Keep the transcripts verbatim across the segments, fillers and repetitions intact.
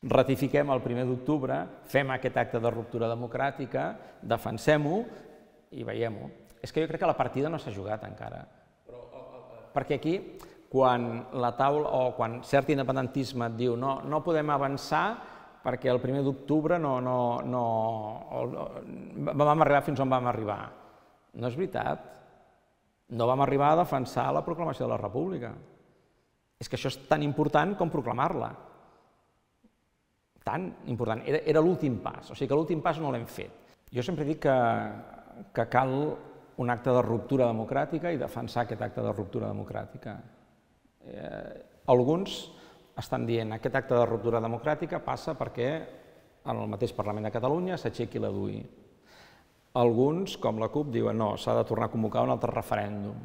Ratifiquem el primer d'octubre, fem aquest acte de ruptura democràtica, defensem-ho i veiem-ho. És que jo crec que la partida no s'ha jugat encara. Perquè aquí, quan la taula o quan cert independentisme et diu no, no podem avançar perquè el primer d'octubre no, no, no, vam arribar fins on vam arribar. No és veritat. No vam arribar a defensar la proclamació de la República. És que això és tan important com proclamar-la. Tan important. Era, era l'últim pas, o sigui que l'últim pas no l'hem fet. Jo sempre dic que, que cal un acte de ruptura democràtica i defensar aquest acte de ruptura democràtica. Eh, alguns estan dient que aquest acte de ruptura democràtica passa perquè en el mateix Parlament de Catalunya s'aixequi la D U I. Alguns, com la CUP, diuen no, s'ha de tornar a convocar un altre referèndum.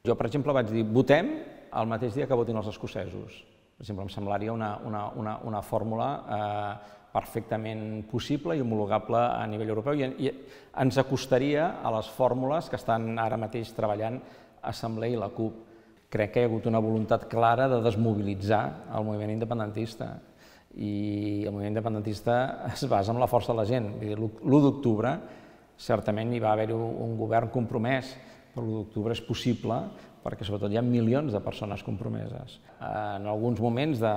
Jo, per exemple, vaig dir votem el mateix dia que votin els escocesos. Per exemple, em semblaria una, una, una, una fórmula eh, perfectament possible i homologable a nivell europeu i, i ens acostaria a les fórmules que estan ara mateix treballant Assemblea i la CUP. Crec que hi ha hagut una voluntat clara de desmobilitzar el moviment independentista i el moviment independentista es basa en la força de la gent. l'u d'octubre certament hi va haver-hi un govern compromès, però l'u d'octubre és possible perquè sobretot hi ha milions de persones compromeses. En alguns moments de,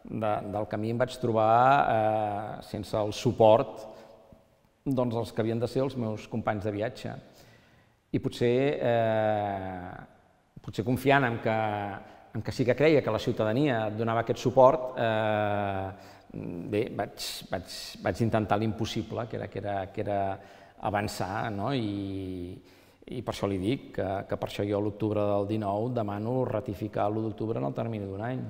de, del camí em vaig trobar eh, sense el suport doncs, dels que havien de ser els meus companys de viatge. I potser, eh, potser confiant en que, en que sí que creia que la ciutadania donava aquest suport, eh, bé, vaig, vaig, vaig intentar l'impossible, que era, que era, que era avançar, no? I, i per això li dic que, que per això jo a l'octubre del dinou demano ratificar l'u d'octubre en el termini d'un any.